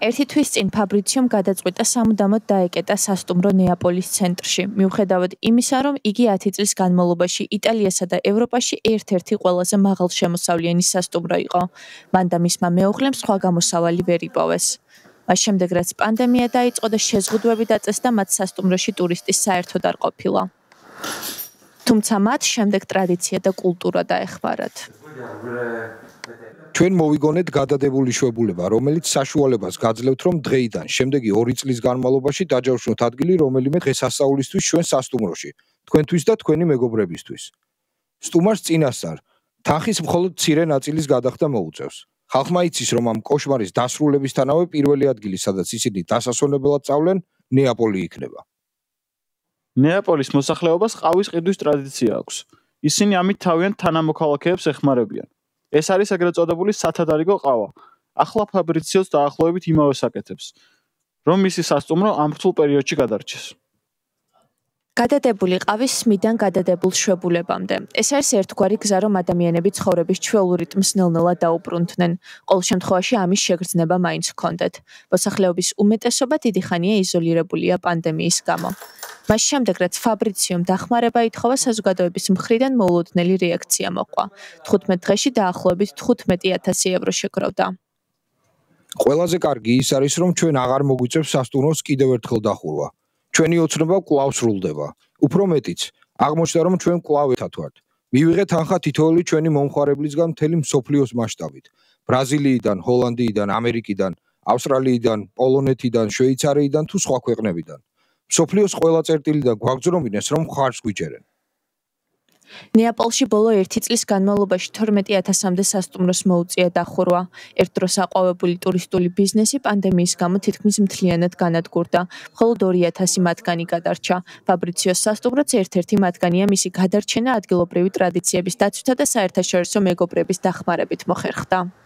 ერთი თვის წინ ფაბრიციომ გადაწყვიტა სამუდამოდ დაეკეტა სასტუმრო ნეაპოლის ცენტრში, მიუხედავად იმისა, რომ იგი 10 წლის განმავლობაში იტალიასა და ევროპაში ერთ-ერთი ყველაზე მაღალშემოსავლიანი სასტუმრო იყო. მან და მისმა მეუღლემ სხვა გამოსავალი ვერ იპოვეს. მას შემდეგ, რაც პანდემია დაიწყო და შეზღუდვები დაწესდა, მათ სასტუმროში ტურისტის საერთოდ არ ყოფილა. თუმცა მათ შემდეგ ტრადიცია და კულტურა დაეხმარათ. ჩვენ მოვიგონეთ გადადებული შვებულება, რომელიც საშუალებას გაძლევთ, რომ დღეიდან შემდეგი 2 წლის განმავლობაში დაჯავშნოთ ადგილი რომელიმე დღესასწაულისთვის ჩვენ სასტუმროში, თქვენთვის და თქვენი მეგობრებისთვის. სტუმარს წინასწარ თანხის მხოლოდ მცირე ნაწილის გადახდა მოუწევს. ხალხმა იცის, რომ ამ კოშმარის დასრულებისთანავე პირველი ადგილი, სადაც ისინი დასასვენებლად წავლენ, ნეაპოლი იქნება. ნეაპოლის მოსახლეობას ყავის ყიდვის ტრადიცია აქვს. ისინი ამით თავიანთ თანამოქალაქეებს ეხმარებიან. ეს არის ეგრეთ წოდებული სათადარიგო ყავა. ახლა ფაბრიციოს დაახლოებით იმავე საკეთებს, რომ მისი სასტუმრო ამ რთულ პერიოდში გადარჩეს. გადადებული ყავის სმიდან გადადებულ შვებულებამდე. ეს არის ერთგვარი გზა, რომ ადამიანები ცხოვრების ჩვეულ რიტმს ნელ-ნელა დაუბრუნდნენ. ყოველ შემთხვევაში ამის შეგრძნება მაინც ჰქონდათ. მოსახლეობის უმეტესობა დიდი ხანია იზოლირებულია პანდემიის გამო. მას შემდეგ, რაც ფაბრიციომ დახმარება ითხოვა, საზოგადოების მხრიდან მოულოდნელი რეაქცია მოყვა. 15 დღეში დაახლოებით 15,000 ევრო შეგროვდა. ყველაზე კარგი ის არის, რომ ჩვენ აღარ მოგვიწევს სასტუმროს კიდევ ერთხელ დახურვა. ჩვენი ოცნება კვლავ სრულდება. უფრო მეტიც, აღმოჩნდა, რომ ჩვენ კვლავ ერთად ვართ. მივიღეთ თანხა თითოეული ჩვენი მომხმარებლისგან მთელი მსოფლიოს მასშტაბით. ბრაზილიიდან, ჰოლანდიიდან, ამერიკიდან, ავსტრალიიდან, პოლონეთიდან, შვეიცარიიდან თუ სხვა ქვეყნებიდან. მსოფლიოს ყველა წერტილიდან გვაგზრომინეს, რომ ხარს გვიჯერენ. ნეაპოლში ბოლო 1 წლის განმავლობაში 12,000-მდე სასტუმროს მოუწია დახურვა. ერთ დროს აყვავებული ტურისტული ბიზნესი პანდემიის გამო თითქმის მთლიანად განადგურდა. მხოლოდ 2,000 მათგანი გადარჩა. ფაბრიციოს სასტუმროც ერთ-ერთი მათგანია, მისი გადარჩენა ადგილობრივი ტრადიციების დაცვითა და საერთაშორისო მეგობრების დახმარებით მოხერხდა.